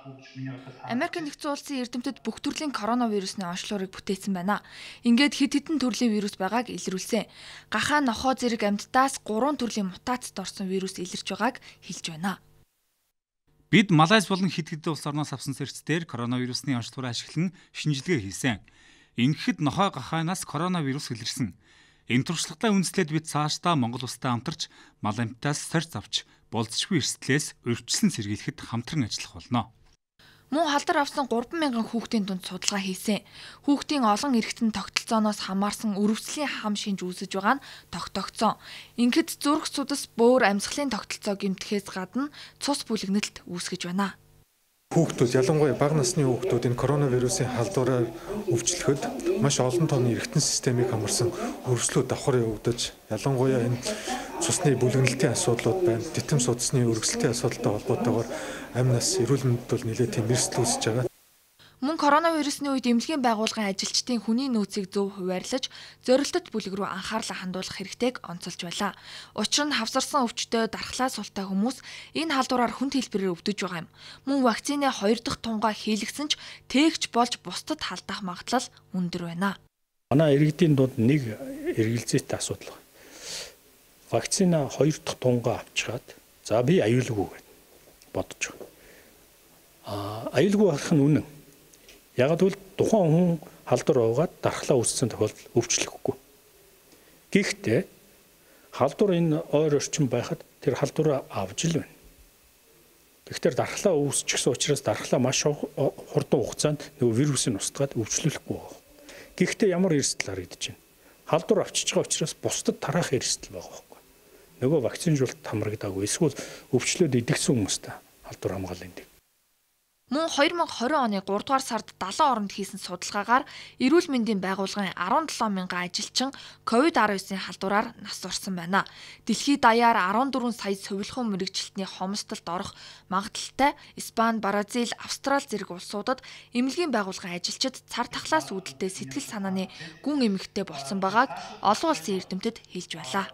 Америк нэгдсэн улсын эрдэмтэд бүх төрлийн коронавирусны онцлогыг бүтээсэн байна. Ингээд хэд хэдэн төрлийн вирус байгааг илрүүлсэн. Гахаа нохоо зэрэг амьтдаас 3 төрлийн мутацид орсон вирус илэрч байгааг хэлж байна. Бид Малайз болон хэд хэдэн улс орноос авсан зэрэгцээр коронавирусны онцлогоо ашиглан шинжилгээ хийсэн. Ингэхэд нохой гахаанаас коронавирус илэрсэн. Энэ туршлагатай үндэслээд бид цаашдаа Монгол улстай хамтарч мал амьтдаас сорьц авч болцшгүй эрсдлээс урьдчилан сэргийлэхэд хамтран ажиллах болно. Мөн халдар авсан 3,000 хүүхдийн дунд судалгаа хийсэн. Хүүхдийн олон эрэгтэн тогтолцооноос хамаарсан өрөвслийн хам шинж үүсэж байгаа нь тогтогдсон. Ингээд зүрх судас бөөр амьсгалын тогтолцоо гэмтэхээс гадна цус бүлэгнэлт үүсгэж байна. Хүүхдүүд ялангуяа бага насны хүүхдүүд энэ коронавирусын халдвараар өвчлөхөд маш олон тооны эргэтэн системийг хамарсан өргөслүүд давхар явагдаж ялангуяа энэ цусны бүлэгнэлтийн асуудлууд байна. Титэм судасны өргөсөлтийн асуудалтай холбоотойгоор амь нас эрүүл мэндэд бол нэлээд тийм эрсдэл үүсэж байгаа. Мөн коронавирусны үед эмнэлгийн байгууллагын ажилчдын хүний нөөцийг зөв хуваарлаж, зорилттой бүлэг рүү анхаарлаа хандуулах хэрэгтэйг онцолж байлаа. Учир нь хавсарсан өвчтөй дархлаа султай хүмүүс энэ халдвараар хүнд хэлбэрээр өвдөж байгаа юм. Мөн вакцины 2 дахь тунгаа хийлгсэн ч тээгч болж бусдад халдах магадлал өндөр байна. Манай иргэдийн дунд нэг эргэлзээтэй асуудал байна. Вакцина 2 дахь тунгаа авчихад за би аюулгүй гэж бодож байгаа. Аюулгүй байх нь үнэн. Яг л тухайн хүн халдвар уугаад дархлаа үүссэн тохиолдолд өвчлөхгүй. Гэхдээ халдвар энэ ойр орчин байхад тэр халдвараа авж л байна. Тэгэхээр дархлаа үүсчихсэн учраас дархлаа маш хурдан хугацаанд нөгөө вирусын устгаад өвчлөхгүй байна. Гэхдээ ямар эрсдэл харагдаж байна? Халдвар авчиж байгаа учраас бусдад тараах эрсдэл байгаа байхгүй. Нөгөө вакцинжуулалт хамрагдаагүй эсвэл өвчлөөд идэгсэн хүмүүстэй халдвар хамгаална гэдэг. Мөн 2020 оны 3 дугаар сард 70 оронд хийсэн судалгаагаар эрүүл мэндийн байгууллагын 17,000 ажилчин COVID-19-ийн халдвараар нас орсон байна. Дэлхийд даяар 14 сая сувилхан мэрэгчлэлтний хомсдолд орох магадлалтай Испани, Бразил, Австрали зэрэг улсуудад эмнэлгийн байгууллагын ажилчид цар тахлаас үүдэлтэй сэтгэл санааны гүн эмэгтэй болсон байгааг олон улсын эрдэмтэд хэлж байлаа.